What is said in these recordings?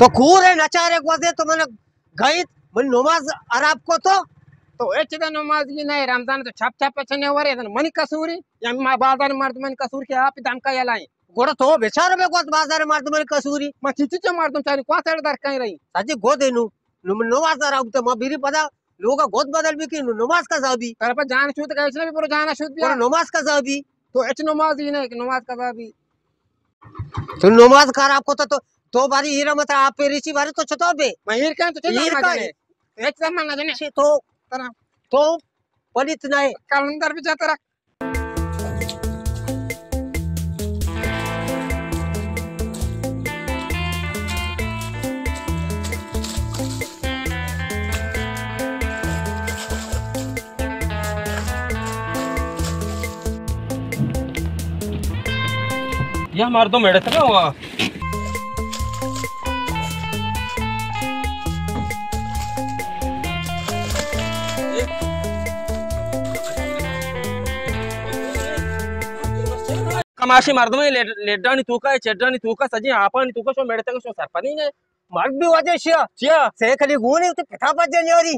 تو کورے نچارے گوزے تو من گئیت، من نماز خراب کو تو۔ تو اچ دا نمازی نہ، رمضان تو چھپ چھپ چنے ورے، منی قصوری یا ما بازار مردمانی قصور کہ آپ دمکا یلائیں۔ گڑا تو بیچارہ بے گوز بازار مردمانی قصوری۔ ما چیچی چے مردم چاری کو سر در کہیں رہی۔ سجی گو دینو، نو من نماز خراب تو ما بیری پدا لوگا گد بدل بی کہ نو نماز قضا بی۔ تر پر جان شود کہ اچ نہ بی، برو جانا شود بیا۔ برو نماز قضا بی۔ تو اچ نمازی نہ کہ نماز قضا بی۔ تو نماز خراب کو تو، تو باری ہیرا مت آپ ریچی باری تو چتو بے۔ میں ہیر کہیں تو چتو ایر مجنے۔ اچ زمان نہ جنے۔ چی تو، ترا۔ تو پلیت نہ۔ کلندر بی جا ترا۔ یا مردم اڑتگا وا۔ کماشی مردمے لیڈ-، لیڈانی توکا، چڈانی توکا، سجی آپانی توکا شو میڑتگا شو سرپدی نے۔ مرد بھی واجہ شیا۔ چیا؟ سیکلی گونی تو پتا پجن یاری۔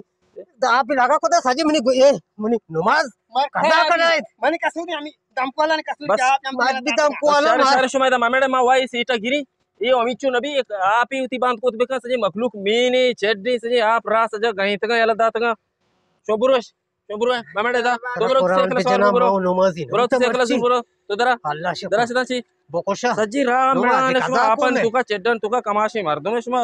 دا آپ لگا کو دا سجی منی گو-، اے، منی نماز قضا کنائے۔ منی قصوری ہمی دمکوالا نے قصوری بس۔ آپ ہم مات بھی دمکوالا شار، مار۔ شار شما دا ممیڑے ما وائی سیٹا گیری۔ اے امیچو نبی ایک آپی ہوتی باند کوت بکن سجے مخلوق مینے چڈے سجے آپ را سجا گئیں تگا یلا داتگا۔ شو بروش، شو برو ممیڑے دا۔ تو برو قرآن سیکل سوار بجنا برو۔ ما نمازی نہ۔ برو تو سیکل سوار برو۔ تو درا۔ اللہ شکر۔ درا سدا چی۔ بکشا۔ سجی را میڑان شما آپن توکا چڈن توکا کماشی مردم شما۔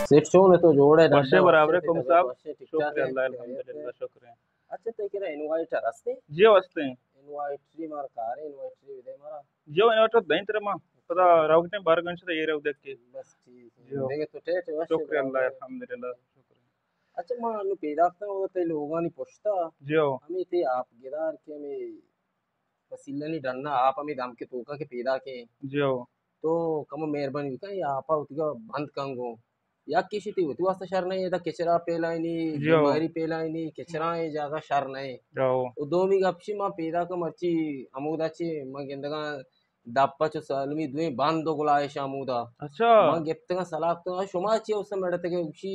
سیٹ چون ہے تو جوڑ ہے؟ وشے برابر ہے، کم صاحب؟ شکر اللہ، الحمدللہ، شکر ہے۔ اچھا، تئی کرا انوائٹر ہستے؟ جی ہو، ہستے ہیں۔ انوائٹری مارا کار ہے، انوائٹری دے مارا۔ جی ہو، انوائٹر دیں تیرے ماں۔ پدا راوگٹیں بار گنش تے یہ رو دیکھ کے۔ بس ٹھیک ہے۔ جی ہو۔ دیکھے تو ٹیٹ ہے، شکر اللہ، الحمدللہ، شکر ہے۔ اچھا، ما انو پیدا کتا وہ تئی لوگانی پشتا۔ جی ہو۔ ہمیں تئی آپ گدار کے ہمیں وسیلہ نی ڈنا آپ ہمیں دم کے توکا کے پیدا کے۔ جی ہو۔ تو کمو مہربانی بکن، یہ آپا اتگا بند کن گو۔ یک کشی تی وتی واسطہ شر نہیں، ادا کچرا پیلائنی، جی ہو۔ بیماری پیلائنی، کچرا اے جاگہ شر نہیں۔ جی ہو۔ و دومی گپ چی، ما پیدا کا مرچی ہمودا چی، ما گندگا دپا چو سالمی دویں بند و گلائش ہمودا۔ اچھا۔ ما گپتگا سلاح کتگا، شما چی اس مڑتگے اسی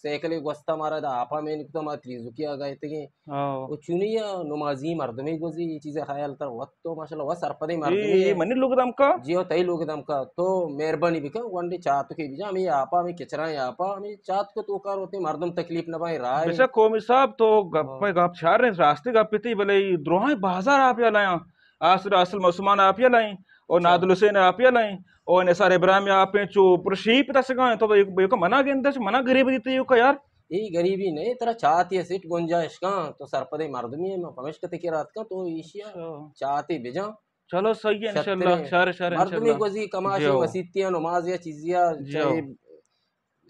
سائیکلے گوستا مارا دا آپا مین کتا ما تریزکی آ گئے تگے۔ ہاں۔ و چونی یا نمازی مردمے گوزی، یہ چیز خیال تر وقت تو ماشاءاللہ وہ سرپدے مردمے اے، اے ہے۔ منی لوگ دمکا؟ جی ہو، تئی لوگ دمکا۔ تو مہربانی بکن، گونڈے چاتکے بجا، ہمیں آپا، ہمیں کچرائیں آپا، ہمیں چاتک تو کار ہوتے مردم تکلیف نہ بائیں رائے۔ بچا قومی صاحب تو گپ، ہاں۔ گپ چار رہے، راستے گپ تی، بلے دروہاں بازار آپ یا لایاں۔ آسر اصل مسلمان آپ یا لائیں، اور اچھا۔ نادل حسین آپ یا لائیں، اور نثار ابراہیم آپ ہیں، چو پر شیپ دسگا ہیں، تو ایک، ایک منا گندش، منا غریب دیتے یو کا یار۔ اے غریبی نہیں، ترا چاہتی ہے سیٹ گنجائش کا، تو سرپدے مردمی ہے، میں پمش کتے کے رات کا، تو ایشیا اچھا۔ چاہتے بجا۔ چلو صحیح ہے، انشاءاللہ، شترے۔ شر، شر، مردمی انشاءاللہ۔ گوزی کماشی جی ہو۔ مسیتیاں نماز یا چیزیا، جی ہو۔ چاہے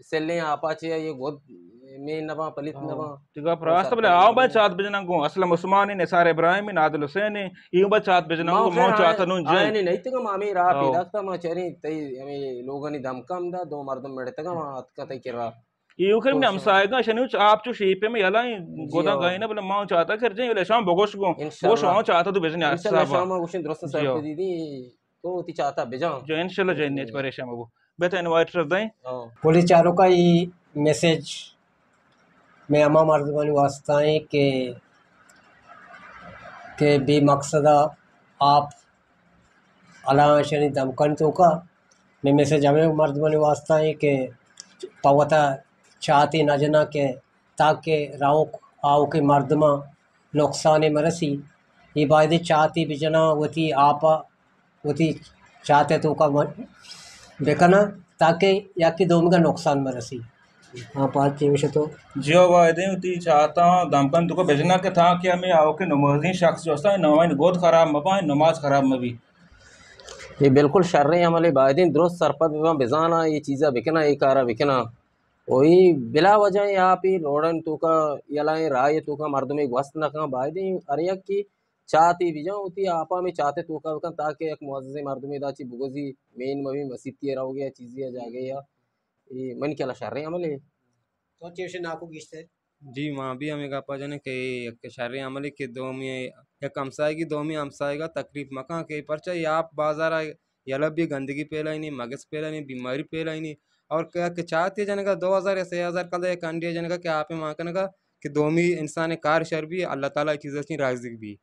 سلیں آپا چے یہ گد مین نباں، پلیت ہاں۔ نباں۔ تگا پراست بلے آؤ بھائی چات بجنا گو، اسلم عثمانی، نثار ابراہیمی، نادل حسینی، ایو بھائی چات بجنا گو، مو چاتا نون جائیں۔ آئے نہیں، نہیں تگا مامی راہ ہاں۔ پیدا کتا، ما چریں تئی ہمیں لوگانی دمکا ہم دا، دو مردم مڑتگا، ما اتکا تئی کرا۔ ایو کر تو میں ہمسائے گا، شنو چ-، آپ چو شیپے میں یلائیں، جی گودا ہاں۔ گائیں نا، بلے ما چاتا کر جائیں، بلے شام بگوش گو، انشاءاللہ۔ بگوش آؤ چاتا تو بجنے انشاءاللہ، حسابا۔ شام گوشن درست جی ہاں۔ سر پہ دی دی۔ تو وتی چاہتا بجاں۔ جو انشاءاللہ جائیں، نیچ پریشان مبو۔ بہتر انوائٹر دیں۔ ہاں۔ پولیس چاروکا ای میسج میں ہما مردمانی واسطہ ہیں کہ، کہ بے مقصد آپ اللہ شانی دمکن توکا۔ میں میسج ہمیں مردمانی واسطہ ہیں کہ پوتا چاہتے نہ جنا کہ تاکہ راوک آوکیں مردماں نقصانے مرسی۔ اے بایدیں چاتے بجناں، وتی آپا وتی چاتے توکا بکناں، تاکہ یکے دومیگا نقصان مرسی۔ ہاں، پاد چے گوشے تو؟ جی ہو، بایدیں وتی چاتاں دمکن توکا بجناں کہ تاکہ ہمیں آوکیں نمازیں شخص جو استاں، نماز گد خراب مباں، نماز خراب مبی۔ اے بالکل شریں عملے، بایدیں درست سرپد بباں، بزاناں اے چیزا بکناں، اے کارا بکناں۔ و اے بلا وجہ اے آپ اے روڈانی توکا، یلائیں راہی توکا مردمے گوست نہ کن، بایدیں ہر یک کہ چاتے بجاں وتی آپا ہمے چاتے توکا بکن، تاکہ یک معززیں مردمے دا چی بگوزی، مین مبی مسیتی روگے یا چیزی یا جاگے یا۔ اے منی خیالا شریں عملے۔ تو چی گوشے ناکو گیشتر؟ جی، ما بھی ہمے گپا جنیں کہ یک شریں عملے کہ دومی یک ہمسائگی دومی ہمسائگا تکلیف مکاں کہ پرچا اے آپ بازارا یلہ بی گندگی پھیلائینی، مگس پھیلائینی، بیماری پھیلائینی۔ اور کہ، کہ چاتے جنگا دو ہزار یا سے ہزار کلدار یک ہنڈے جنگا کہ آپے مان کنگا کہ دومی انسان کار شر بی، اللہ تعالی چیز چی راضی بی۔